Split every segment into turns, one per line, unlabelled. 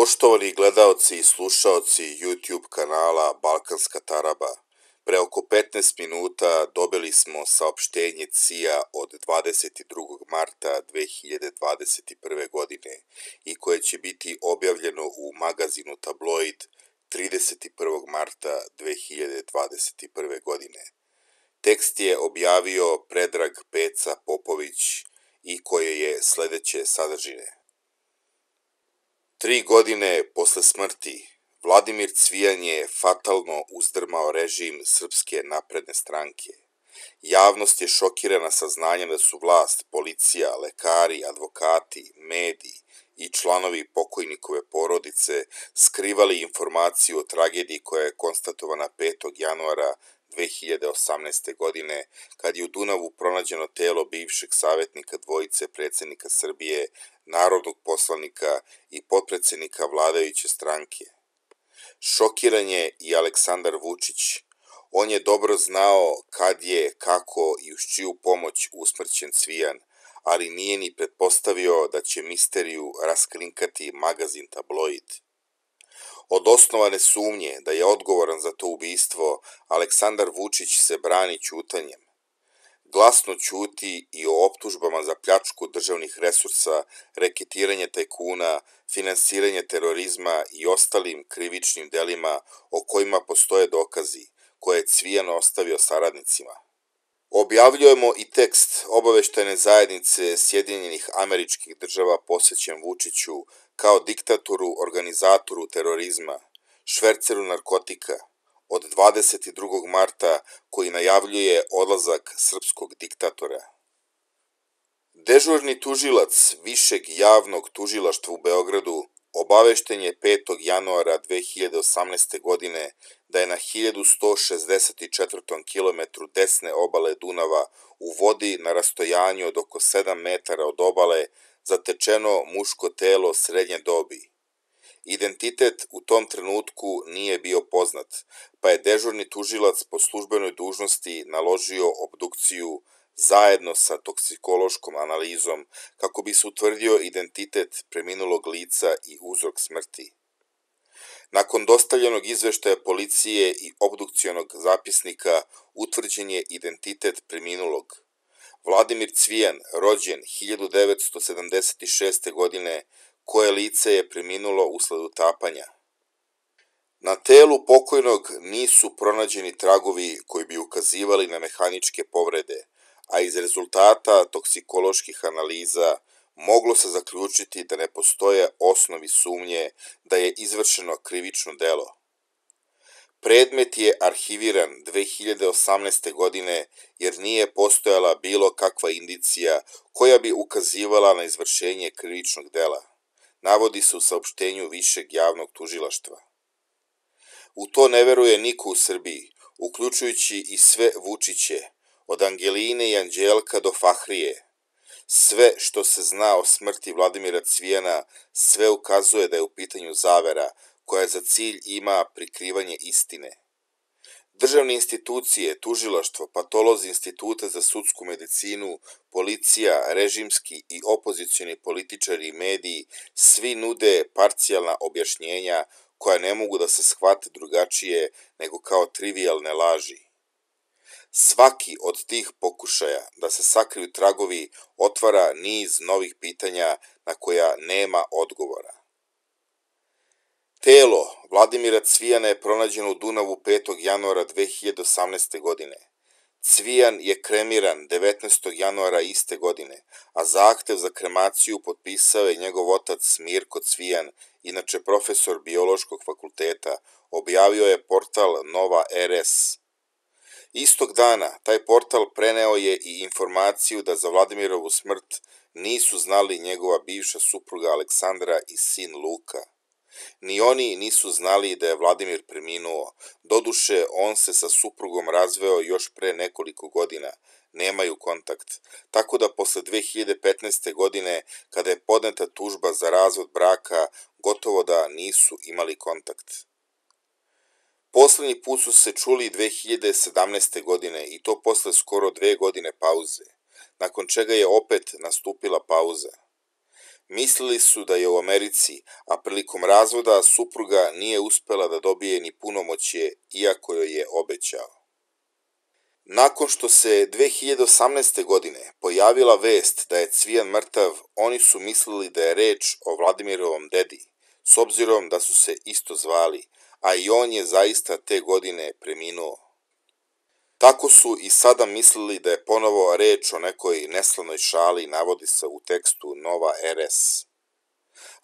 Poštovani gledaoci i slušaoci YouTube kanala Balkanska taraba, pre oko 15 minuta dobili smo saopštenje CIA od 22. marta 2021. godine i koje će biti objavljeno u magazinu Tabloid 31. marta 2021. godine. Tekst je objavio Predrag Peca Popović i koje je sledeće sadržine. 3 godine posle smrti, Vladimir Cvijan je fatalno uzdrmao režim Srpske napredne stranke. Javnost je šokirana saznanjem da su vlast, policija, lekari, advokati, mediji i članovi pokojnikove porodice skrivali informaciju o tragediji koja je konstatovana 5. januara 2018. godine, kad je u Dunavu pronađeno telo bivšeg savjetnika dvojice predsjednika Srbije, narodnog poslanika i potpredsjednika vladajuće stranke. Šokiran je i Aleksandar Vučić. On je dobro znao kad je, kako i uz čiju pomoć usmrćen Cvijan, ali nije ni pretpostavio da će misteriju raskrinkati magazin Tabloid. Od osnovane sumnje da je odgovoran za to ubistvo, Aleksandar Vučić se brani ćutanjem. Glasno ćuti i o optužbama za pljačku državnih resursa, reketiranje tajkuna, finansiranje terorizma i ostalim krivičnim delima o kojima postoje dokazi, koje je Cvijan ostavio saradnicima. Objavljujemo i tekst obaveštajne zajednice Sjedinjenih Američkih Država posvećen Vučiću kao diktatoru, organizatoru terorizma, šverceru narkotika, od 22. marta koji najavljuje odlazak srpskog diktatora. Dežurni tužilac Višeg javnog tužilaštva u Beogradu obavešten je 5. januara 2018. godine da je na 1164. kilometru desne obale Dunava u vodi na rastojanju od oko 7 metara od obale zatečeno muško telo srednje dobi. Identitet u tom trenutku nije bio poznat, pa je dežurni tužilac po službenoj dužnosti naložio obdukciju zajedno sa toksikološkom analizom kako bi se utvrdio identitet preminulog lica i uzrok smrti. Nakon dostavljenog izveštaja policije i obdukcionog zapisnika utvrđen je identitet preminulog. Vladimir Cvijan, rođen 1976. godine, koje lice je preminulo usled utapanja. Na telu pokojnog nisu pronađeni tragovi koji bi ukazivali na mehaničke povrede, a iz rezultata toksikoloških analiza moglo se zaključiti da ne postoje osnovi sumnje da je izvršeno krivično delo. Predmet je arhiviran 2018. godine jer nije postojala bilo kakva indicija koja bi ukazivala na izvršenje krivičnog dela, navodi se u saopštenju Višeg javnog tužilaštva. U to ne veruje niko u Srbiji, uključujući i sve Vučiće, od Angeline i Anđelka do Fahrije. Sve što se zna o smrti Vladimira Cvijana, sve ukazuje da je u pitanju zavera, koja za cilj ima prikrivanje istine. Državne institucije, tužilaštvo, patolozi Instituta za sudsku medicinu, policija, režimski i opozicioni političari i mediji, svi nude parcijalna objašnjenja koja ne mogu da se shvate drugačije nego kao trivijalne laži. Svaki od tih pokušaja da se sakriju tragovi otvara niz novih pitanja na koja nema odgovora. Telo Vladimira Cvijana je pronađeno u Dunavu 5. januara 2018. godine. Cvijan je kremiran 19. januara iste godine, a zahtev za kremaciju potpisao je njegov otac Mirko Cvijan, inače profesor Biološkog fakulteta, objavio je portal Nova RS. Istog dana taj portal preneo je i informaciju da za Vladimirovu smrt nisu znali njegova bivša supruga Aleksandra i sin Luka. Ni oni nisu znali da je Vladimir preminuo, doduše on se sa suprugom razveo još pre nekoliko godina, nemaju kontakt, tako da posle 2015. godine, kada je podneta tužba za razvod braka, gotovo da nisu imali kontakt. Poslednji put su se čuli 2017. godine i to posle skoro 2 godine pauze, nakon čega je opet nastupila pauza. Mislili su da je u Americi, a prilikom razvoda supruga nije uspela da dobije ni punomoćje, iako joj je obećao. Nakon što se 2018. godine pojavila vest da je Cvijan mrtav, oni su mislili da je reč o Vladimirovom dedi, s obzirom da su se isto zvali, a i on je zaista te godine preminuo. Tako su i sada mislili da je ponovo reč o nekoj neslavnoj šali, navodi se u tekstu Nova RS.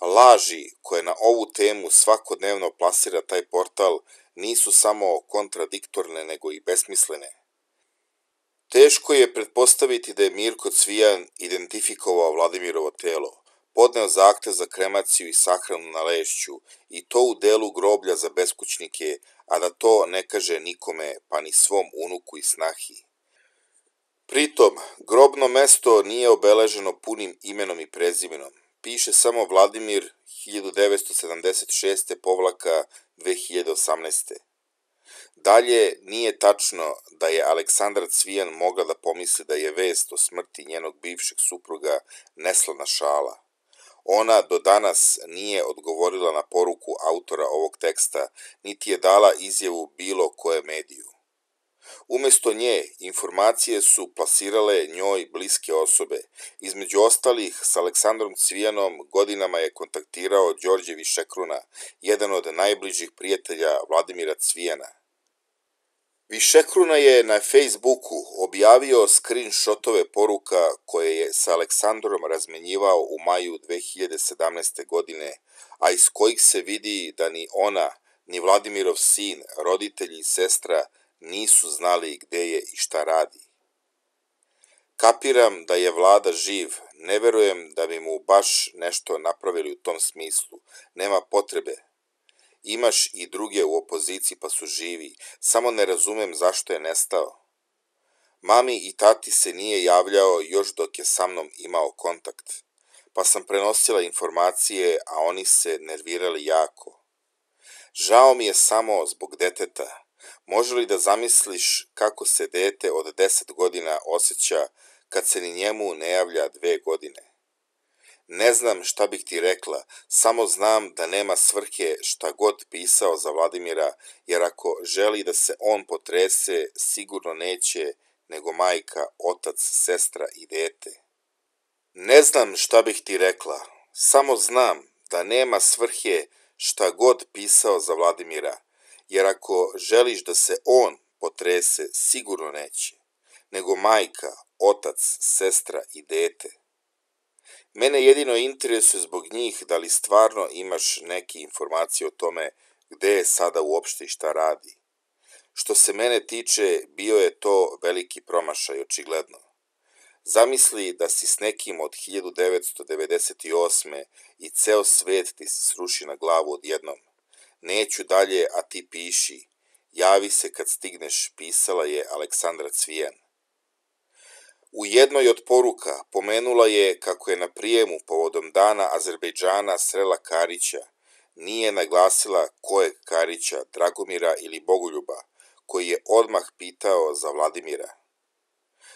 Laži koje na ovu temu svakodnevno plasira taj portal nisu samo kontradiktorne nego i besmislene. Teško je pretpostaviti da je Mirko Cvijan identifikovao Vladimirovo telo, podneo zahtev za kremaciju i sahranu na Lešću i to u delu groblja za beskućnike, a da to ne kaže nikome, pa ni svom unuku i snahi. Pritom, grobno mesto nije obeleženo punim imenom i prezimenom. Piše samo Vladimir 1976-2018. Dalje, nije tačno da je Aleksandra Cvijan mogla da pomisli da je vest o smrti njenog bivšeg supruga neslavna šala. Ona do danas nije odgovorila na poruku autora ovog teksta, niti je dala izjavu bilo koje mediju. Umesto nje, informacije su plasirale njoj bliske osobe. Između ostalih, s Aleksandrom Cvijanom godinama je kontaktirao Đorđe Višekruna, jedan od najbližih prijatelja Vladimira Cvijana. Višekruna je na Facebooku objavio screenshotove poruka koje je sa Aleksandrom razmenjivao u maju 2017. godine, a iz kojih se vidi da ni ona, ni Vladimirov sin, roditelji i sestra nisu znali gde je i šta radi. Kapiram da je Vlada živ, ne verujem da bi mu baš nešto napravili u tom smislu, nema potrebe. Imaš i druge u opoziciji pa su živi, samo ne razumem zašto je nestao. Mami i tati se nije javljao još dok je sa mnom imao kontakt, pa sam prenosila informacije, a oni se nervirali jako. Žao mi je samo zbog deteta. Može li da zamisliš kako se dete od 10 godina osjeća kad se ni njemu ne javlja 2 godine? Ne znam šta bih ti rekla, samo znam da nema svrhe šta god pisao za Vladimira, jer ako želi da se on potrese, sigurno neće, nego majka, otac, sestra i dete. Ne znam šta bih ti rekla, samo znam da nema svrhe šta god pisao za Vladimira, jer ako želiš da se on potrese, sigurno neće, nego majka, otac, sestra i dete. Mene jedino interesuje zbog njih da li stvarno imaš neke informacije o tome gde je sada uopšte i šta radi. Što se mene tiče, bio je to veliki promašaj, očigledno. Zamisli da si s nekim od 1998. i ceo svet ti se sruši na glavu odjednom. Neću dalje, a ti piši. Javi se kad stigneš, pisala je Aleksandra Cvijan. U jednoj od poruka pomenula je kako je na prijemu povodom Dana Azerbejdžana srela Karića. Nije naglasila kojeg Karića, Dragomira ili Bogoljuba, koji je odmah pitao za Vladimira.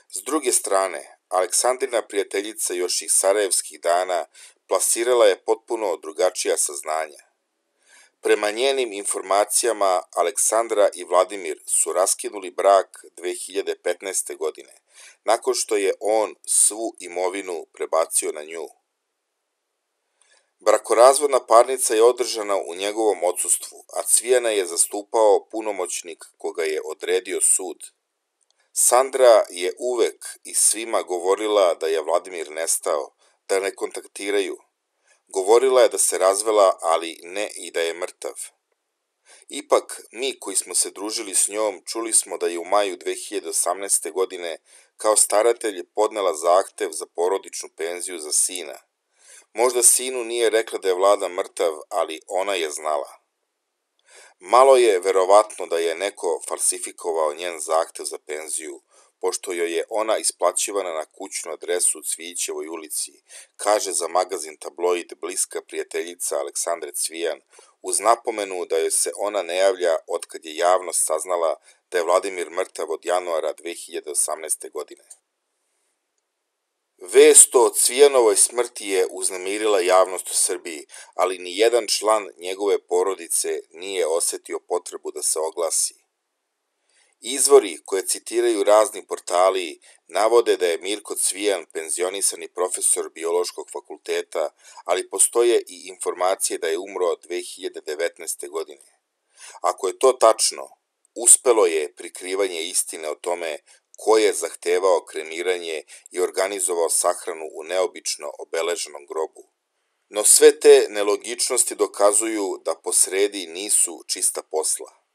S druge strane, Aleksandrina prijateljica još iz sarajevskih dana plasirala je potpuno drugačija saznanja. Prema njenim informacijama, Aleksandra i Vladimir su raskinuli brak 2015. godine, nakon što je on svu imovinu prebacio na nju. Brakorazvodna parnica je održana u njegovom odsustvu, a Cvijana je zastupao punomoćnik koga je odredio sud. Sandra je uvek i svima govorila da je Vladimir nestao, da ne kontaktiraju. Govorila je da se razvela, ali ne i da je mrtav. Ipak, mi koji smo se družili s njom, čuli smo da je u maju 2018. godine kao staratelj podnela zahtev za porodičnu penziju za sina. Možda sinu nije rekla da je Vlada mrtav, ali ona je znala. Malo je verovatno da je neko falsifikovao njen zahtev za penziju, pošto joj je ona isplaćivana na kućnu adresu u Cvijićevoj ulici, kaže za magazin Tabloid bliska prijateljica Aleksandre Cvijan, uz napomenu da joj se ona ne javlja otkad je javnost saznala da je Vladimir mrtav od januara 2018. godine. Vest o Cvijanovoj smrti je uznemirila javnost u Srbiji, ali ni jedan član njegove porodice nije osetio potrebu da se oglasi. Izvori koje citiraju razni portali navode da je Mirko Cvijan penzionisani profesor biološkog fakulteta, ali postoje i informacije da je umro 2019. godine. Ako je to tačno, uspelo je prikrivanje istine o tome ko je zahtevao kremiranje i organizovao sahranu u neobično obeleženom grobu. No sve te nelogičnosti dokazuju da posredi nisu čista posla.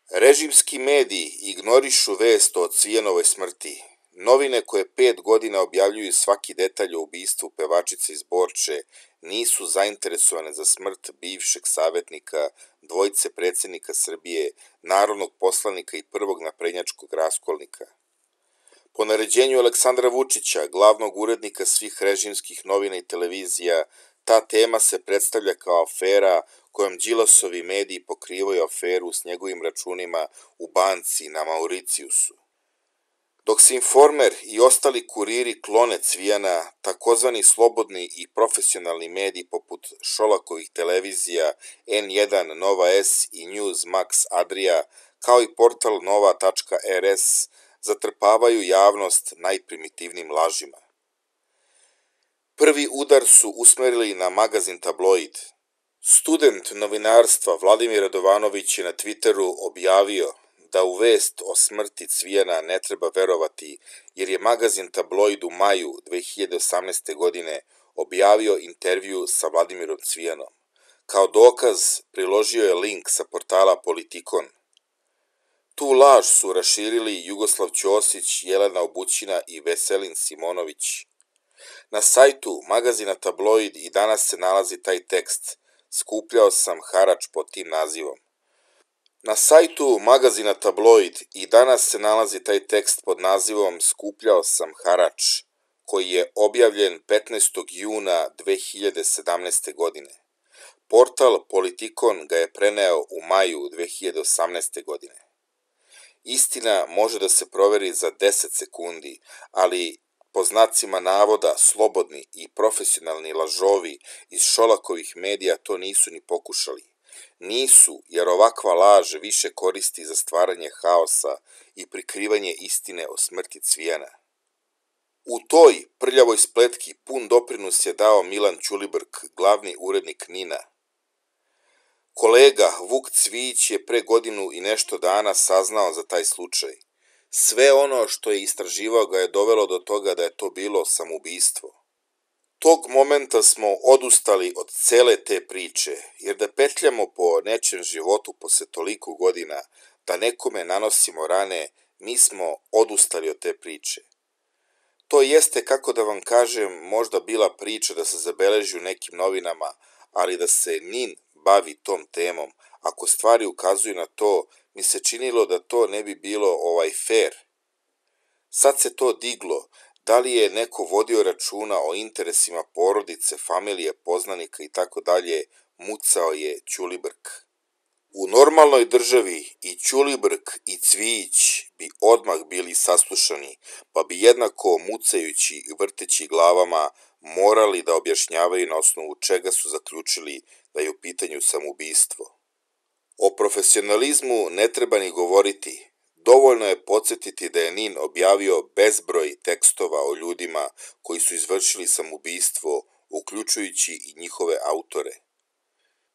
Režimski mediji ignorišu vest o Cvijanovoj smrti. Novine koje 5 godina objavljuju svaki detalj o ubistvu pevačice iz Borče nisu zainteresovane za smrt bivšeg savjetnika, dvojice predsjednika Srbije, narodnog poslanika i prvog naprednjačkog raskolnika. Po naređenju Aleksandra Vučića, glavnog urednika svih režimskih novina i televizija, ta tema se predstavlja kao afera kojom Đilasovi mediji pokrivaju aferu s njegovim računima u banci na Mauricijusu. Dok se Informer i ostali kuriri klone Cvijana, takozvani slobodni i profesionalni mediji poput Šolakovih televizija N1, Nova S i Newsmax Adria, kao i portal nova.rs, zatrpavaju javnost najprimitivnim lažima. Prvi udar su usmerili na magazin Tabloid. Student novinarstva Vladimir Radovanović je na Twitteru objavio da u vest o smrti Cvijana ne treba verovati jer je magazin Tabloid u maju 2018. godine objavio intervju sa Vladimirom Cvijanom. Kao dokaz priložio je link sa portala Politikon. Tu laž su raširili Jugoslav Ćosić, Jelena Obućina i Veselin Simonović. Na sajtu magazina Tabloid i danas se nalazi taj tekst. Skupljao sam harač pod tim nazivom. Na sajtu magazina Tabloid i danas se nalazi taj tekst pod nazivom Skupljao sam harač, koji je objavljen 15. juna 2017. godine. Portal Politikon ga je preneo u maju 2018. godine. Istina može da se proveri za 10 sekundi, ali po znacima navoda slobodni i profesionalni lažovi iz Šolakovih medija to nisu ni pokušali. Nisu, jer ovakva laž više koristi za stvaranje haosa i prikrivanje istine o smrti Cvijana. U toj prljavoj spletki pun doprinos je dao Milan Ćulibrk, glavni urednik NIN-a. Kolega Vuk Cvijić je pre godinu i nešto dana saznao za taj slučaj. Sve ono što je istraživao ga je dovelo do toga da je to bilo samoubistvo. Tog momenta smo odustali od cele te priče, jer da petljamo po nečem životu posle toliko godina, da nekome nanosimo rane, mi smo odustali od te priče. To jeste, kako da vam kažem, možda bila priča da se zabeleži u nekim novinama, ali da se NIN bavi tom temom, ako stvari ukazuju na to, mi se činilo da to ne bi bilo fair. Sad se to diglo, da li je neko vodio računa o interesima porodice, familije, poznanika i tako dalje, mucao je Ćulibrk. U normalnoj državi i Ćulibrk i Cvijić bi odmah bili saslušani, pa bi jednako mucajući i vrteći glavama morali da objašnjavaju na osnovu čega su zaključili da je u pitanju samoubistvo. O profesionalizmu ne treba ni govoriti. Dovoljno je podsjetiti da je NIN objavio bezbroj tekstova o ljudima koji su izvršili samoubistvo, uključujući i njihove autore.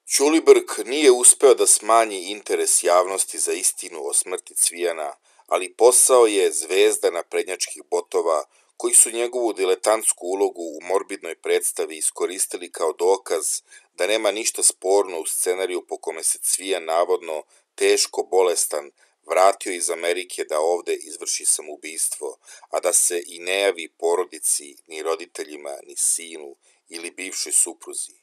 Ćulibrk nije uspeo da smanji interes javnosti za istinu o smrti Cvijana, ali posao je zvezda naprednjačkih botova koji su njegovu diletantsku ulogu u morbidnoj predstavi iskoristili kao dokaz da nema ništa sporno u scenariju po kome se Cvijan navodno teško bolestan vratio iz Amerike da ovde izvrši samoubistvo, a da se i ne javi porodici, ni roditeljima, ni sinu ili bivšoj supruzi.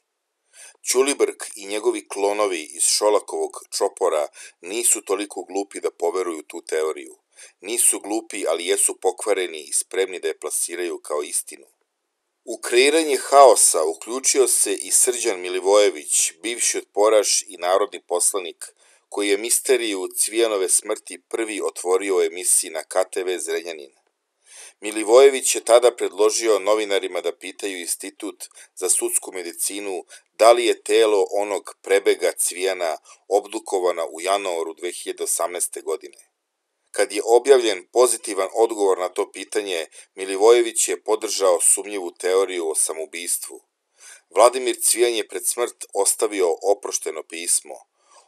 Ćulibrk i njegovi klonovi iz Šolakovog čopora nisu toliko glupi da poveruju tu teoriju. Nisu glupi, ali jesu pokvareni i spremni da je plasiraju kao istinu. U kreiranje haosa uključio se i Srđan Milivojević, bivši otporaš i narodni poslanik, koji je misteriju Cvijanove smrti prvi otvorio u emisiji na KTV Zrenjanin. Milivojević je tada predložio novinarima da pitaju Institut za sudsku medicinu da li je telo onog prebega Cvijana obdukovano u januaru 2018. godine. Kad je objavljen pozitivan odgovor na to pitanje, Milivojević je podržao sumnjivu teoriju o samoubistvu. Vladimir Cvijan je pred smrt ostavio oprošteno pismo.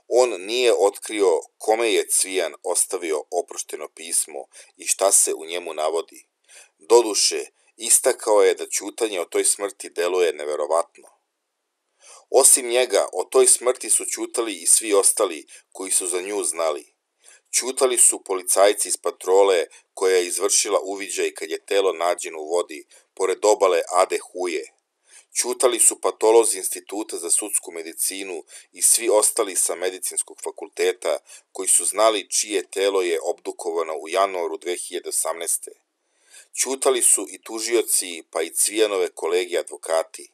On nije otkrio kome je Cvijan ostavio oprošteno pismo i šta se u njemu navodi. Doduše, istakao je da ćutanje o toj smrti deluje neverovatno. Osim njega, o toj smrti su ćutali i svi ostali koji su za nju znali. Ćutali su policajci iz patrole koja je izvršila uviđaj kad je telo nađeno u vodi, pored obale Ade Huje. Ćutali su patolozi Instituta za sudsku medicinu i svi ostali sa medicinskog fakulteta koji su znali čije telo je obdukovano u januaru 2018. Ćutali su i tužioci pa i Cvijanove kolege advokati.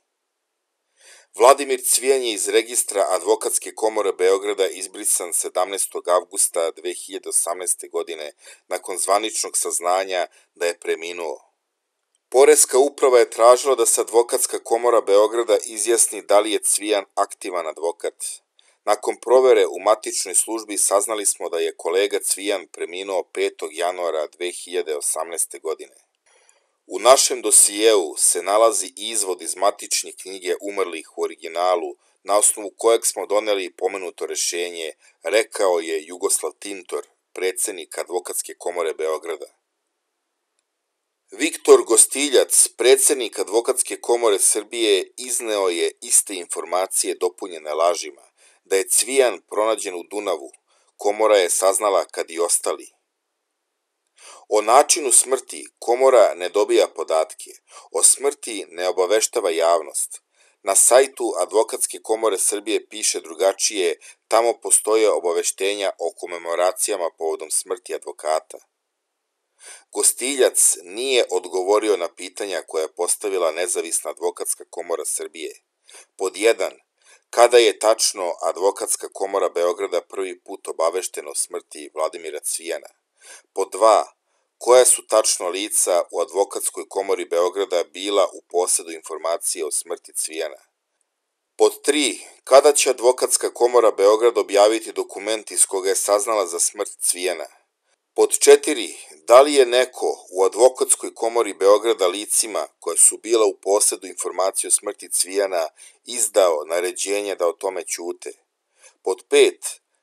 Vladimir Cvijan je iz registra Advokatske komore Beograda izbrisan 17. avgusta 2018. godine nakon zvaničnog saznanja da je preminuo. Poreska uprava je tražila da se Advokatska komora Beograda izjasni da li je Cvijan aktivan advokat. Nakon provere u matičnoj službi saznali smo da je kolega Cvijan preminuo 5. januara 2018. godine. U našem dosijeu se nalazi izvod iz matične knjige umrlih u originalu, na osnovu kojeg smo doneli pomenuto rešenje, rekao je Jugoslav Tintor, predsednik Advokatske komore Beograda. Viktor Gostiljac, predsednik Advokatske komore Srbije, izneo je iste informacije dopunjene lažima, da je Cvijan pronađen u Dunavu, komora je saznala kad i ostali. O načinu smrti komora ne dobija podatke, o smrti ne obaveštava javnost. Na sajtu Advokatske komore Srbije piše drugačije, tamo postoje obaveštenja o komemoracijama povodom smrti advokata. Gostiljac nije odgovorio na pitanja koja je postavila Nezavisna advokatska komora Srbije. Pod 1. Kada je tačno Advokatska komora Beograda prvi put obaveštena o smrti Vladimira Cvijana? Pod 2. Koja su tačno lica u Advokatskoj komori Beograda bila u posedu informacije o smrti Cvijana? Pod 3. Kada će Advokatska komora Beograda objaviti dokument iz koga je saznala za smrt Cvijana? Pod 4. Da li je neko u Advokatskoj komori Beograda licima koja su bila u posedu informacije o smrti Cvijana izdao naređenje da o tome ćute? Pod 5.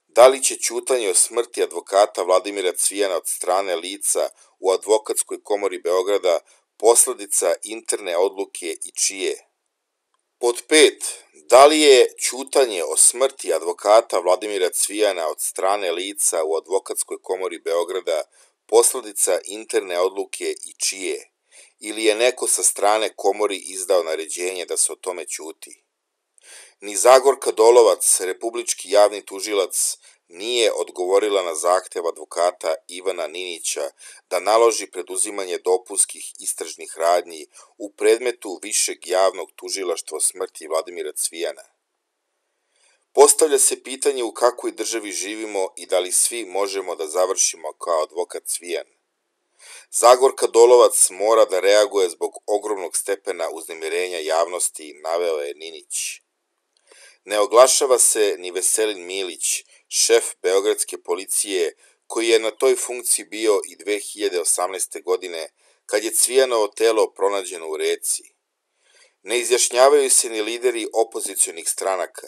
Da li će ćutanje o smrti advokata Vladimira Cvijana od strane lica u Advokatskoj komori Beograda posledica interne odluke i čije? Pod 5. Da li je ćutanje o smrti advokata Vladimira Cvijana od strane lica u Advokatskoj komori Beograda posledica interne odluke i čije? Ili je neko sa strane komori izdao naređenje da se o tome ćuti? Ni Zagorka Dolovac, republički javni tužilac, nije odgovorila na zahtev advokata Ivana Ninića da naloži preduzimanje dopunskih istražnih radnji u predmetu Višeg javnog tužilaštva o smrti Vladimira Cvijana. Postavlja se pitanje u kakvoj državi živimo i da li svi možemo da završimo kao advokat Cvijan. Zagorka Dolovac mora da reaguje zbog ogromnog stepena uznemirenja javnosti, naveo je Ninić. Ne oglašava se ni Veselin Milić, šef beogradske policije, koji je na toj funkciji bio i 2018. godine, kad je Cvijanovo telo pronađeno u reci. Ne izjašnjavaju se ni lideri opozicionih stranaka.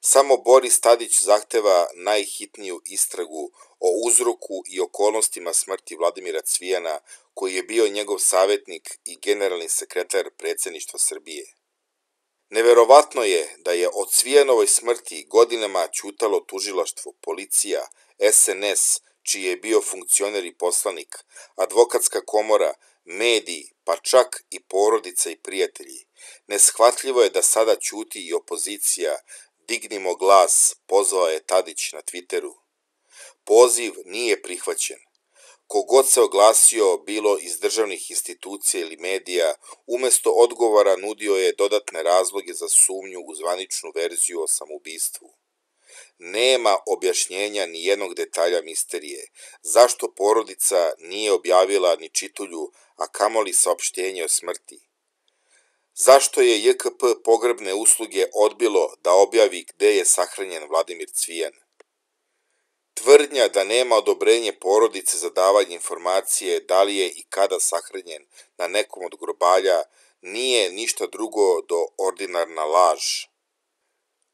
Samo Boris Tadić zahteva najhitniju istragu o uzroku i okolnostima smrti Vladimira Cvijana, koji je bio njegov savjetnik i generalni sekretar predsjedništva Srbije. Neverovatno je da je o Cvijanovoj smrti godinama ćutalo tužilaštvo, policija, SNS, čiji je bio funkcioner i poslanik, Advokatska komora, mediji, pa čak i porodica i prijatelji. Neshvatljivo je da sada ćuti i opozicija. Dignimo glas, pozvao je Tadić na Twitteru. Poziv nije prihvaćen. Kogod se oglasio, bilo iz državnih institucija ili medija, umesto odgovora nudio je dodatne razloge za sumnju u zvaničnu verziju o samoubistvu. Nema objašnjenja ni jednog detalja misterije. Zašto porodica nije objavila ni čitulju, a kamoli saopštenje o smrti? Zašto je JKP pogrebne usluge odbilo da objavi gde je sahranjen Vladimir Cvijan? Tvrdnja da nema odobrenje porodice za davanje informacije da li je i kada sahranjen na nekom od grobalja nije ništa drugo do ordinarna laž.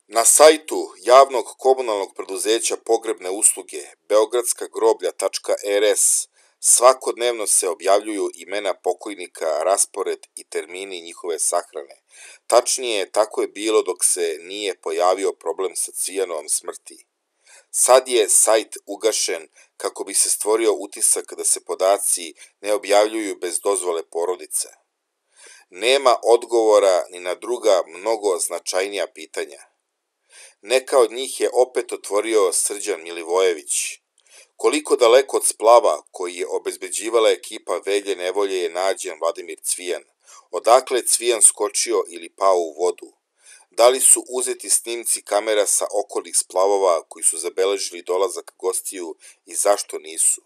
Na sajtu javnog komunalnog preduzeća pogrebne usluge beogradskagroblja.rs svakodnevno se objavljuju imena pokojnika, raspored i termini njihove sahrane. Tačnije, tako je bilo dok se nije pojavio problem sa Cvijanovom smrti. Sad je sajt ugašen kako bi se stvorio utisak da se podaci ne objavljuju bez dozvole porodice. Nema odgovora ni na druga mnogo značajnija pitanja. Neka od njih je opet otvorio Srđan Milivojević. Koliko daleko od splava koji je obezbeđivala ekipa Velje Nevolje je nađen Vladimir Cvijan? Odakle je Cvijan skočio ili pao u vodu? Da li su uzeti snimci kamera sa okolnih splavova koji su zabeležili dolazak gostiju i zašto nisu?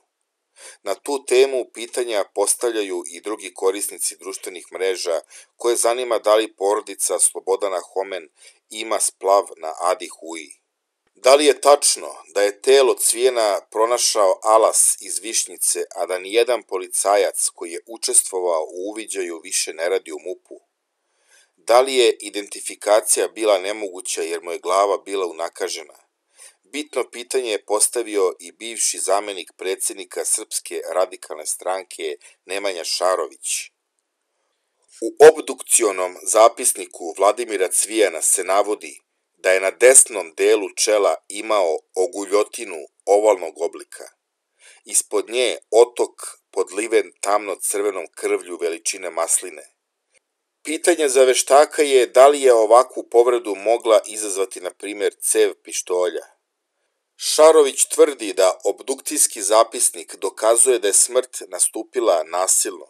Na tu temu pitanja postavljaju i drugi korisnici društvenih mreža koje zanima da li porodica Slobodana Homen ima splav na Adi Huji. Da li je tačno da je telo Cvijana pronašao Alas iz Višnjice, a da nijedan policajac koji je učestvovao u uviđaju više ne radi u MUP-u? Da li je identifikacija bila nemoguća jer mu je glava bila unakažena? Bitno pitanje je postavio i bivši zamenik predsjednika Srpske radikalne stranke Nemanja Šarović. U obdukcionom zapisniku Vladimira Cvijana se navodi da je na desnom delu čela imao oguljotinu ovalnog oblika. Ispod nje otok podliven tamno-crvenom krvlju veličine masline. Pitanje za veštaka je da li je ovakvu povredu mogla izazvati, na primjer, cev pištolja. Šarović tvrdi da obdukcijski zapisnik dokazuje da je smrt nastupila nasilno.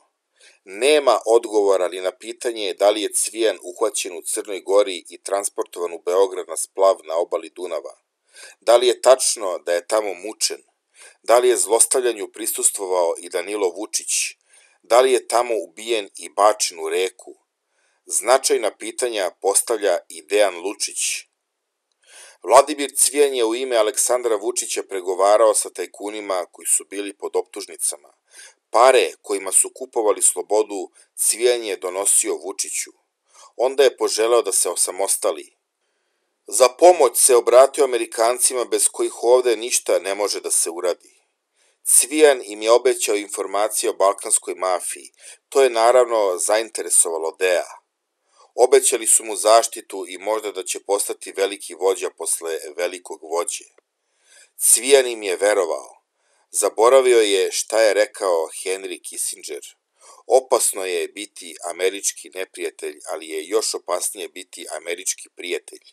Nema odgovora ni na pitanje da li je Cvijan uhvaćen u Crnoj Gori i transportovan u Beograd na splav na obali Dunava. Da li je tačno da je tamo mučen? Da li je zlostavljanju prisustvovao i Danilo Vučić? Da li je tamo ubijen i bačen u reku? Značajna pitanja postavlja i Dejan Lučić. Vladimir Cvijan je u ime Aleksandra Vučića pregovarao sa tajkunima koji su bili pod optužnicama. Pare kojima su kupovali slobodu Cvijan je donosio Vučiću. Onda je poželeo da se osamostali. Za pomoć se obratio Amerikancima bez kojih ovde ništa ne može da se uradi. Cvijan im je obećao informacije o balkanskoj mafiji. To je naravno zainteresovalo Dea. Obećali su mu zaštitu i možda da će postati veliki vođa posle velikog vođe. Cvijan im je verovao. Zaboravio je šta je rekao Henry Kissinger. Opasno je biti američki neprijatelj, ali je još opasnije biti američki prijatelj.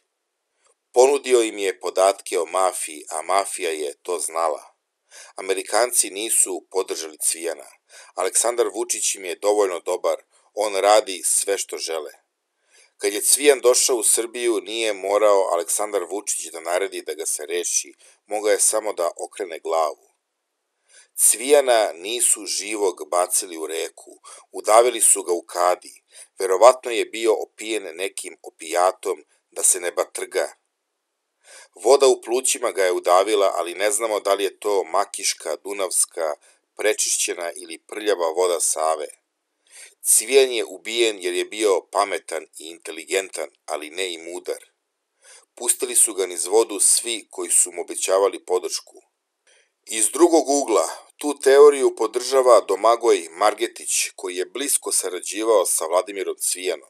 Ponudio im je podatke o mafiji, a mafija je to znala. Amerikanci nisu podržali Cvijana. Aleksandar Vučić im je dovoljno dobar, on radi sve što žele. Kad je Cvijan došao u Srbiju, nije morao Aleksandar Vučić da naredi da ga se reši, mogao je samo da okrene glavu. Cvijana nisu živog bacili u reku, udavili su ga u kadi, verovatno je bio opijen nekim opijatom da se ne batrga. Voda u plućima ga je udavila, ali ne znamo da li je to makiška, dunavska, prečišćena ili prljava voda Save. Cvijan je ubijen jer je bio pametan i inteligentan, ali ne i mudar. Pustili su ga niz vodu svi koji su mu obećavali podršku. Iz drugog ugla, tu teoriju podržava Domagoj Margetić, koji je blisko sarađivao sa Vladimirom Cvijanom.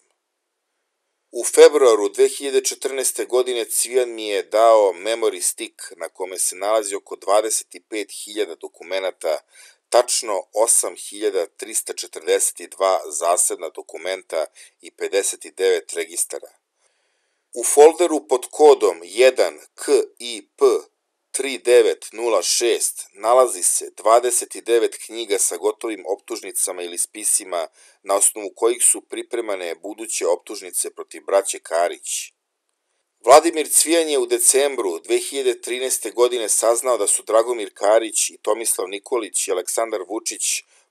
U februaru 2014. godine Cvijan mi je dao memory stick na kome se nalazi oko 25.000 dokumenata, tačno 8.342 zasebna dokumenta i 59 registara. U folderu pod kodom 1KIP3906 nalazi se 29 knjiga sa gotovim optužnicama ili spisima na osnovu kojih su pripremane buduće optužnice protiv braće Karić. Vladimir Cvijan je u decembru 2013. godine saznao da su Dragomir Karić i Tomislav Nikolić i Aleksandar Vučić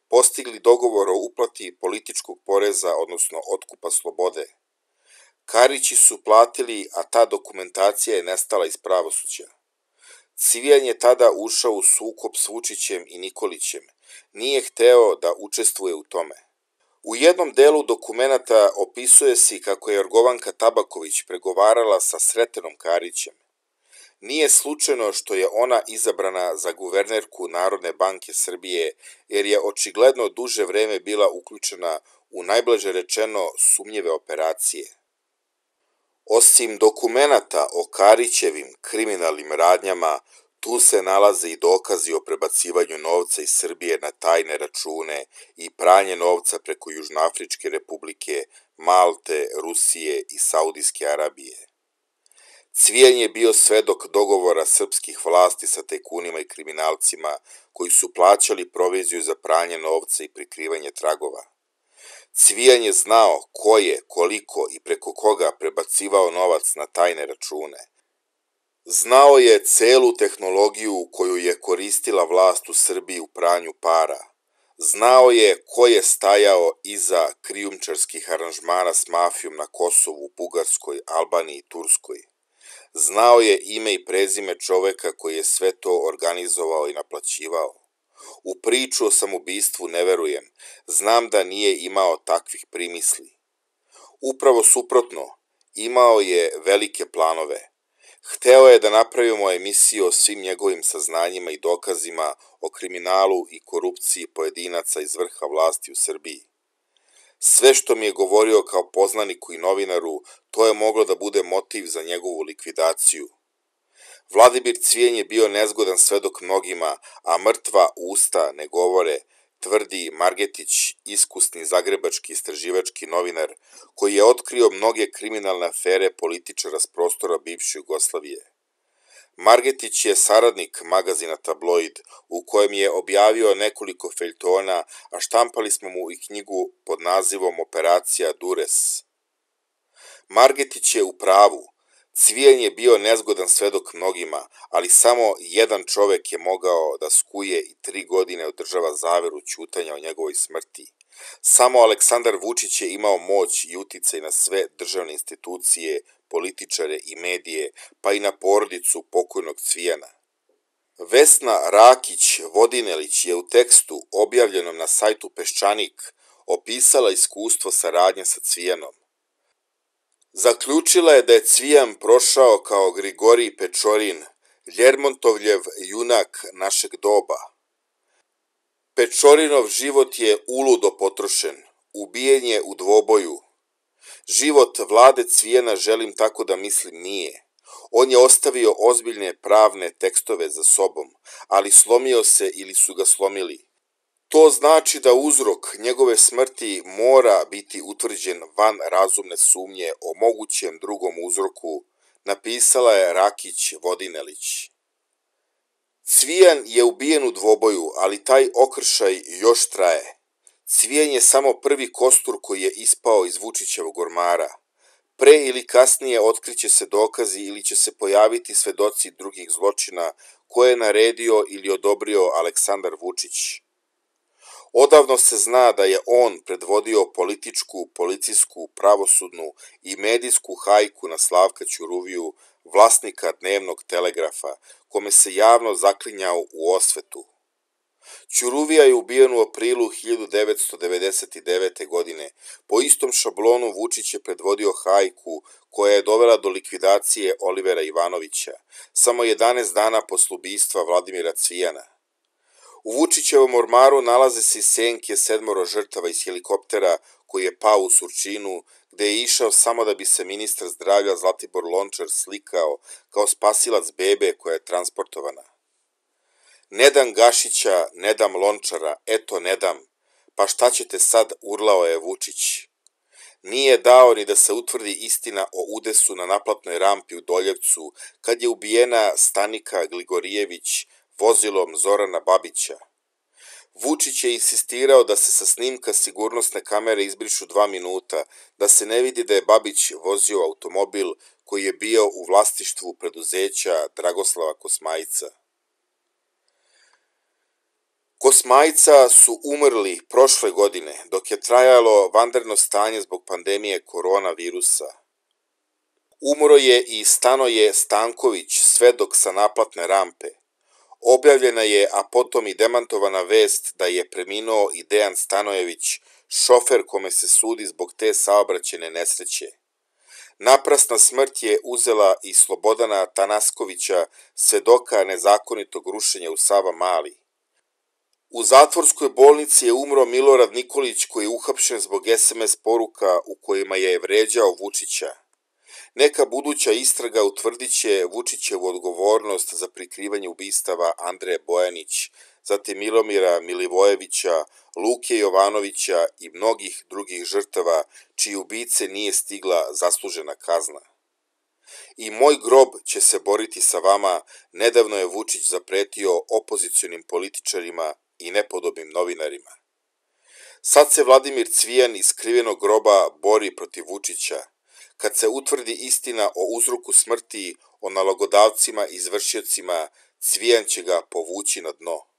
postigli dogovor o uplati političkog poreza, odnosno otkupa slobode. Karići su platili, a ta dokumentacija je nestala iz pravosuđa. Cvijan je tada ušao u sukob s Vučićem i Nikolićem. Nije hteo da učestvuje u tome. U jednom delu dokumenata opisuje se kako je Jorgovanka Tabaković pregovarala sa Sretenom Karićem. Nije slučajno što je ona izabrana za guvernerku Narodne banke Srbije, jer je očigledno duže vreme bila uključena u najblaže rečeno sumnjive operacije. Osim dokumenata o Karićevim kriminalnim radnjama, tu se nalaze i dokazi o prebacivanju novca iz Srbije na tajne račune i pranje novca preko Južnoafričke republike, Malte, Rusije i Saudijske Arabije. Cvijan je bio svedok dogovora srpskih vlasti sa tajkunima i kriminalcima koji su plaćali proviziju za pranje novca i prikrivanje tragova. Cvijan je znao ko je, koliko i preko koga prebacivao novac na tajne račune. Znao je celu tehnologiju koju je koristila vlast u Srbiji u pranju para. Znao je ko je stajao iza krijumčarskih aranžmana s mafijom na Kosovu, Bugarskoj, Albaniji i Turskoj. Znao je ime i prezime čoveka koji je sve to organizovao i naplaćivao. U priču o samoubistvu ne verujem, znam da nije imao takvih primisli. Upravo suprotno, imao je velike planove. Hteo je da napravimo emisiju o svim njegovim saznanjima i dokazima o kriminalu i korupciji pojedinaca iz vrha vlasti u Srbiji. Sve što mi je govorio kao poznaniku i novinaru, to je moglo da bude motiv za njegovu likvidaciju. Vladimir Cvijan je bio nezgodan svedok mnogima, a mrtva usta ne govore, tvrdi Margetić, iskusni zagrebački istraživački novinar, koji je otkrio mnoge kriminalne afere političara s prostora bivše Jugoslavije. Margetić je saradnik magazina Tabloid, u kojem je objavio nekoliko feljtona, a štampali smo mu i knjigu pod nazivom Operacija Dures. Margetić je u pravu. Cvijan je bio nezgodan svedok mnogima, ali samo jedan čovek je mogao da skuje i 3 godine održava zaveru ćutanja o njegovoj smrti. Samo Aleksandar Vučić je imao moć i uticaj na sve državne institucije, političare i medije, pa i na porodicu pokojnog Cvijana. Vesna Rakić-Vodinelić je u tekstu objavljenom na sajtu Peščanik opisala iskustvo saradnje sa Cvijanom. Zaključila je da je Cvijan prošao kao Grigorij Pečorin, Ljermontovljev junak našeg doba. Pečorinov život je uludo potrošen, ubijen je u dvoboju. Život Vlade Cvijana, želim tako da mislim, nije. On je ostavio ozbiljne pravne tekstove za sobom, ali slomio se ili su ga slomili. To znači da uzrok njegove smrti mora biti utvrđen van razumne sumnje o mogućem drugom uzroku, napisala je Rakić-Vodinelić. Cvijan je ubijen u dvoboju, ali taj okršaj još traje. Cvijan je samo prvi kostur koji je ispao iz Vučićevog ormara. Pre ili kasnije otkriće se dokazi ili će se pojaviti svedoci drugih zločina koje je naredio ili odobrio Aleksandar Vučić. Odavno se zna da je on predvodio političku, policijsku, pravosudnu i medijsku hajku na Slavka Ćuruviju, vlasnika Dnevnog telegrafa, kome se javno zaklinjao u osvetu. Ćuruvija je ubijen u aprilu 1999. godine. Po istom šablonu Vučić je predvodio hajku koja je dovela do likvidacije Olivera Ivanovića, samo 11 dana posle ubistva Vladimira Cvijana. U Vučićevom ormaru nalaze se i senke 7 žrtava iz helikoptera koji je pao u Surčinu, gde je išao samo da bi se ministar zdravlja Zlatibor Lončar slikao kao spasilac bebe koja je transportovana. Ne dam Gašića, ne dam Lončara, eto ne dam, pa šta ćete sad, urlao je Vučić. Nije dao ni da se utvrdi istina o udesu na naplatnoj rampi u Doljevcu, kad je ubijena Stanika Gligorijević vozilom Zorana Babića. Vučić je insistirao da se sa snimka sigurnosne kamere izbrišu 2 minuta, da se ne vidi da je Babić vozio automobil koji koji je bio u vlasništvu preduzeća Dragoslava Kosmajca. Kosmajca su umrli prošle godine dok je trajalo vanredno stanje zbog pandemije koronavirusa. Umro je i Stanoje Stanković, svedok sa naplatne rampe. Objavljena je, a potom i demantovana vest da je preminuo i Dejan Stanojević, šofer kome se sudi zbog te saobraćajne nesreće. Naprasna smrt je uzela i Slobodana Tanaskovića, svedoka nezakonitog rušenja u Savamali. U zatvorskoj bolnici je umro Milorad Nikolić, koji je uhapšen zbog SMS poruka u kojima je vređao Vučića. Neka buduća istraga utvrdit će Vučićevu odgovornost za prikrivanje ubistava Andreje Bojanić, zatim Milomira Milivojevića, Luke Jovanovića i mnogih drugih žrtava čiji ubice nije stigla zaslužena kazna. I moj grob će se boriti sa vama, nedavno je Vučić zapretio opozicionim političarima i nepodobnim novinarima. Sad se Vladimir Cvijan iz skrivenog groba bori protiv Vučića. Kad se utvrdi istina o uzroku smrti, o nalogodavcima i izvršiocima, Cvijan će ga povući na dno.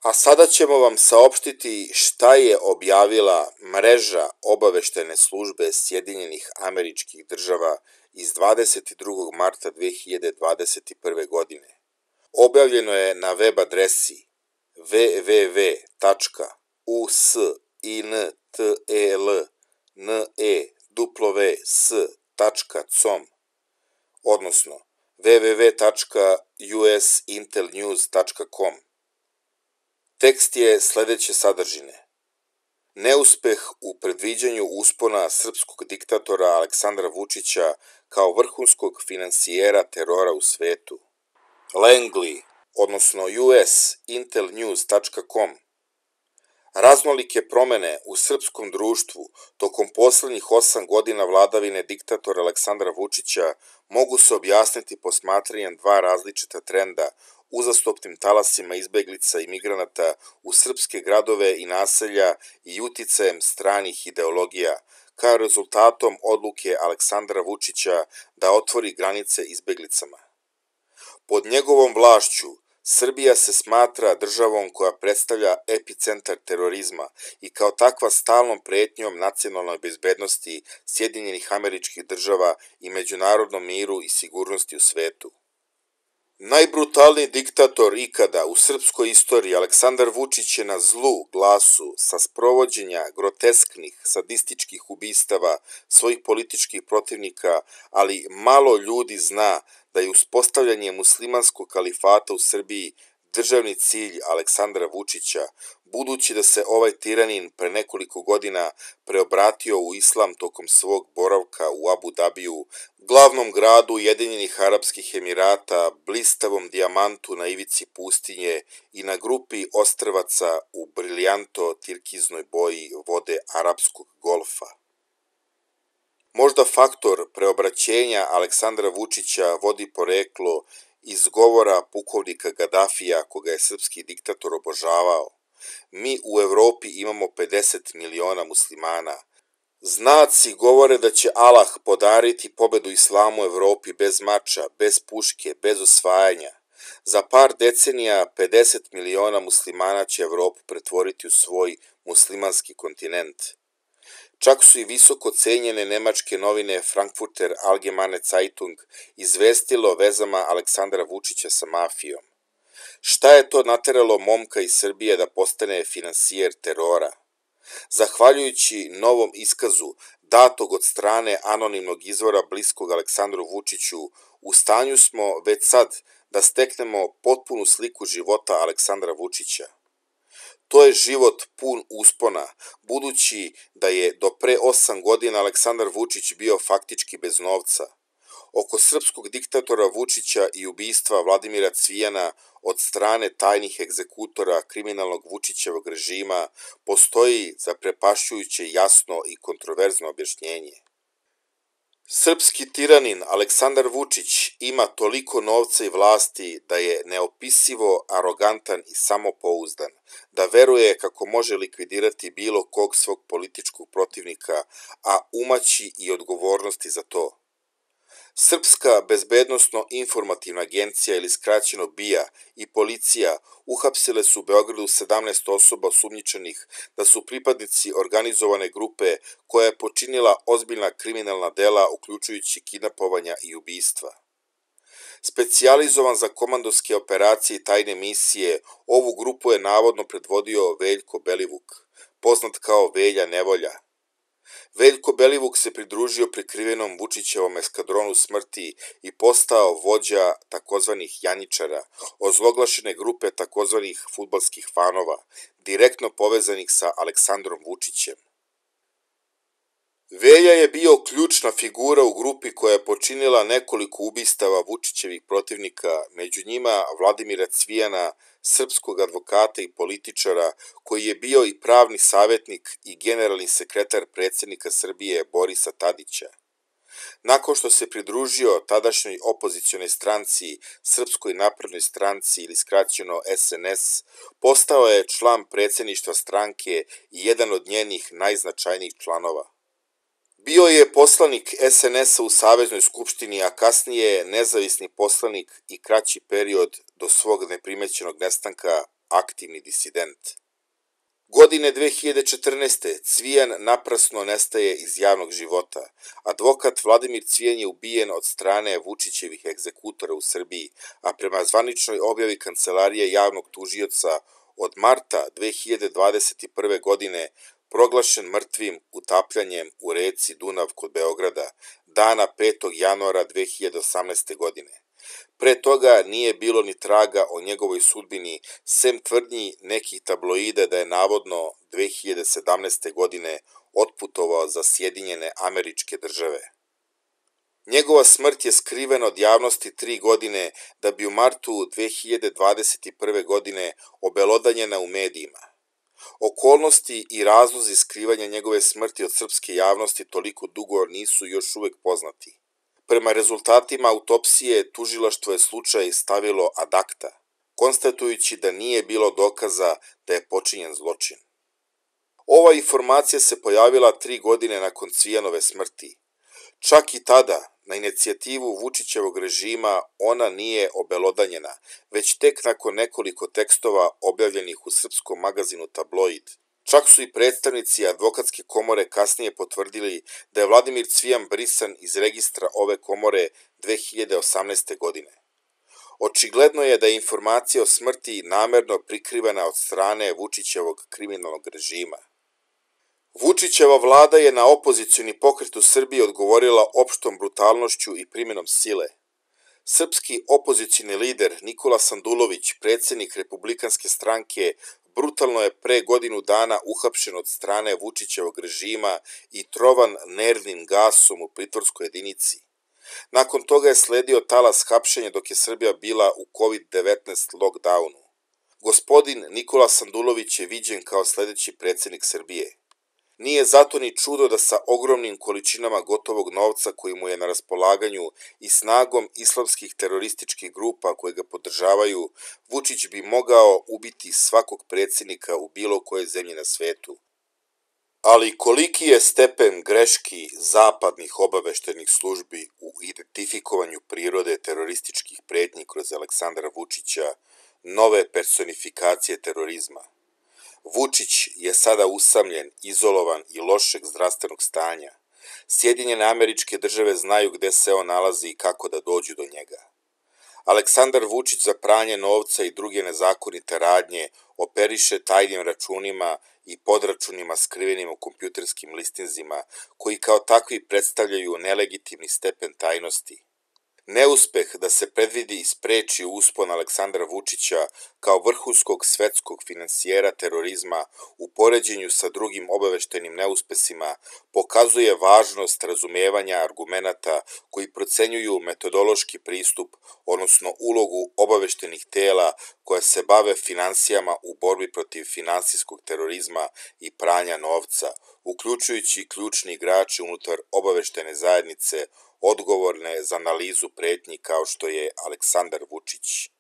A sada ćemo vam saopštiti šta je objavila mreža obaveštajne službe Sjedinjenih Američkih Država iz 22. marta 2021. godine. Objavljeno je na web adresi www.usintels.com, odnosno www.usintelnews.com. Tekst je sledeće sadržine. Neuspeh u predviđanju uspona srpskog diktatora Aleksandra Vučića kao vrhunskog finansijera terora u svetu. Langley, odnosno usintelnews.com. Raznolike promene u srpskom društvu tokom poslednjih 8 godina vladavine diktatora Aleksandra Vučića mogu se objasniti posmatranjem dva različita trenda uzastopnim talasima izbeglica i migranata u srpske gradove i naselja i uticajem stranih ideologija, kao rezultatom odluke Aleksandra Vučića da otvori granice izbeglicama. Pod njegovom vlašću Srbija se smatra državom koja predstavlja epicentar terorizma i kao takva stalnom pretnjom nacionalnoj bezbednosti Sjedinjenih Američkih Država i međunarodnom miru i sigurnosti u svetu. Najbrutalniji diktator ikada u srpskoj istoriji, Aleksandar Vučić, je na zlu glasu sa sprovođenja grotesknih, sadističkih ubistava svojih političkih protivnika, ali malo ljudi zna da je uspostavljanje muslimanskog kalifata u Srbiji državni cilj Aleksandra Vučića, budući da se ovaj tiranin pre nekoliko godina preobratio u islam tokom svog boravka u Abu Dabiju, glavnom gradu Ujedinjenih Arapskih Emirata, blistavom dijamantu na ivici pustinje i na grupi ostrvaca u briljanto tirkiznoj boji vode Arapskog golfa. Možda faktor preobraćenja Aleksandra Vučića vodi poreklo iz govora pukovnika Gadafija, koga je srpski diktator obožavao. Mi u Evropi imamo 50 miliona muslimana. Znaci govore da će Allah podariti pobedu islamu u Evropi bez mača, bez puške, bez osvajanja. Za par decenija 50 miliona muslimana će Evropu pretvoriti u svoj muslimanski kontinent. Čak su i visoko cenjene nemačke novine Frankfurter Allgemeine Zeitung izvestilo o vezama Aleksandra Vučića sa mafijom. Šta je to nateralo momka iz Srbije da postane finansijer terora? Zahvaljujući novom iskazu datog od strane anonimnog izvora bliskog Aleksandru Vučiću, u stanju smo već sad da steknemo potpunu sliku života Aleksandra Vučića. To je život pun uspona, budući da je do pre 8 godina Aleksandar Vučić bio faktički bez novca. Oko srpskog diktatora Vučića i ubistva Vladimira Cvijana od strane tajnih egzekutora kriminalnog Vučićevog režima postoji zaprepašćujuće jasno i kontroverzno objašnjenje. Srpski tiranin Aleksandar Vučić ima toliko novca i vlasti da je neopisivo arogantan i samopouzdan, da veruje kako može likvidirati bilo kog svog političkog protivnika, a umaći i odgovornosti za to. Srpska bezbednosno-informativna agencija ili skraćeno BIA i policija uhapsile su u Beogradu 17 osoba osumnjičenih da su pripadnici organizovane grupe koja je počinila ozbiljna kriminalna dela uključujući kidnapovanja i ubistva. Specijalizovan za komandovske operacije i tajne misije, ovu grupu je navodno predvodio Veljko Belivuk, poznat kao Velja Nevolja. Veljko Belivuk se pridružio prikrivenom Vučićevom eskadronu smrti i postao vođa takozvanih Janjičara, ozloglašene grupe takozvanih fudbalskih fanova, direktno povezanih sa Aleksandrom Vučićem. Velja je bio ključna figura u grupi koja je počinila nekoliko ubistava Vučićevih protivnika, među njima Vladimira Cvijana, srpskog advokata i političara, koji je bio i pravni savjetnik i generalni sekretar predsjednika Srbije Borisa Tadića. Nakon što se pridružio tadašnjoj opozicionoj stranci, Srpskoj naprednoj stranci ili skraćeno SNS, postao je član predsjedništva stranke i jedan od njenih najznačajnijih članova. Bio je poslanik SNS-a u Saveznoj skupštini, a kasnije nezavisni poslanik i kraći period do svog neprimećenog nestanka aktivni disident. Godine 2014. Cvijan naprasno nestaje iz javnog života. Advokat Vladimir Cvijan je ubijen od strane Vučićevih egzekutora u Srbiji, a prema zvaničnoj objavi Kancelarije javnog tužioca od marta 2021. godine proglašen mrtvim utapljanjem u reci Dunav kod Beograda, dana 5. januara 2018. godine. Pre toga nije bilo ni traga o njegovoj sudbini, sem tvrdnji nekih tabloida da je navodno 2017. godine otputovao za Sjedinjene Američke Države. Njegova smrt je skrivena od javnosti 3 godine da bi u martu 2021. godine obelodanjena u medijima. Okolnosti i razlozi skrivanja njegove smrti od srpske javnosti toliko dugo nisu još uvek poznati. Prema rezultatima autopsije, tužilaštvo je slučaj stavilo ad acta, konstatujući da nije bilo dokaza da je počinjen zločin. Ova informacija se pojavila 3 godine nakon Cvijanove smrti. Čak i tada, na inicijativu Vučićevog režima, ona nije obelodanjena, već tek nakon nekoliko tekstova objavljenih u srpskom magazinu Tabloid. Čak su i predstavnici advokatske komore kasnije potvrdili da je Vladimir Cvijan brisan iz registra ove komore 2018. godine. Očigledno je da je informacija o smrti namerno prikrivena od strane Vučićevog kriminalnog režima. Vučićeva vlada je na opozicioni pokret u Srbiji odgovorila opštom brutalnošću i primjenom sile. Srpski opozicioni lider Nikola Sandulović, predsjednik Republikanske stranke, brutalno je pre godinu dana uhapšen od strane Vučićevog režima i trovan nervnim gasom u pritvorskoj jedinici. Nakon toga je sledio talas hapšenja dok je Srbija bila u COVID-19 lockdownu. Gospodin Nikola Sandulović je viđen kao sledeći predsjednik Srbije. Nije zato ni čudo da sa ogromnim količinama gotovog novca koji mu je na raspolaganju i snagom islamskih terorističkih grupa koje ga podržavaju, Vučić bi mogao ubiti svakog predsjednika u bilo kojoj zemlji na svetu. Ali koliki je stepen greški zapadnih obaveštajnih službi u identifikovanju prirode terorističkih pretnji kroz Aleksandra Vučića, nove personifikacije terorizma? Vučić je sada usamljen, izolovan i lošeg zdravstvenog stanja. Sjedinjene Američke Države znaju gde se on nalazi i kako da dođu do njega. Aleksandar Vučić za pranje novca i druge nezakonite radnje operiše tajnim računima i podračunima skrivenim u kompjuterskim listinzima, koji kao takvi predstavljaju nelegitimni stepen tajnosti. Neuspeh da se predvidi i spreči uspon Aleksandra Vučića kao vrhunskog svetskog finansijera terorizma u poređenju sa drugim obaveštajnim neuspesima pokazuje važnost razumijevanja argumenata koji procenjuju metodološki pristup, odnosno ulogu obaveštajnih tela koja se bave finansijama u borbi protiv finansijskog terorizma i pranja novca, uključujući ključni igrači unutar obaveštajne zajednice odgovorne za analizu pretnji kao što je Aleksandar Vučić.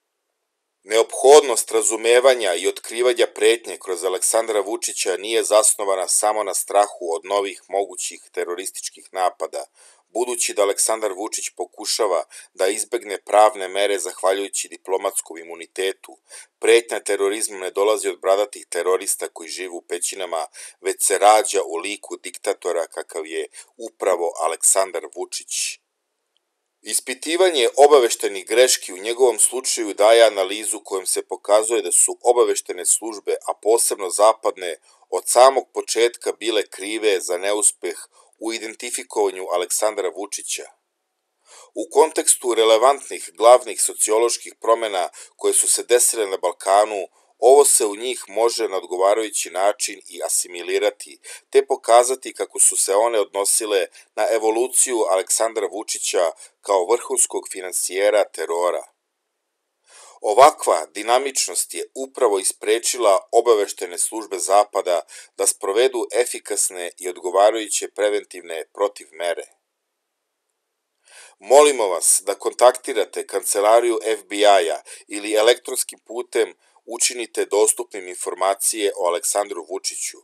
Neophodnost razumevanja i otkrivanja pretnje kroz Aleksandra Vučića nije zasnovana samo na strahu od novih mogućih terorističkih napada, budući da Aleksandar Vučić pokušava da izbegne pravne mere zahvaljujući diplomatskom imunitetu, pretnja terorizmom ne dolazi od bradatih terorista koji žive u pećinama, već se rađa u liku diktatora kakav je upravo Aleksandar Vučić. Ispitivanje obaveštajnih greški u njegovom slučaju daje analizu kojom se pokazuje da su obaveštene službe, a posebno zapadne, od samog početka bile krive za neuspeh u identifikovanju Aleksandra Vučića. U kontekstu relevantnih glavnih socioloških promjena koje su se desile na Balkanu, ovo se u njih može na odgovarajući način i asimilirati, te pokazati kako su se one odnosile na evoluciju Aleksandra Vučića kao vrhunskog finansijera terora. Ovakva dinamičnost je upravo isprečila obaveštene službe Zapada da sprovedu efikasne i odgovarajuće preventivne protivmere. Molimo vas da kontaktirate kancelariju FBI-a ili elektronskim putem učinite dostupnim informacije o Aleksandru Vučiću.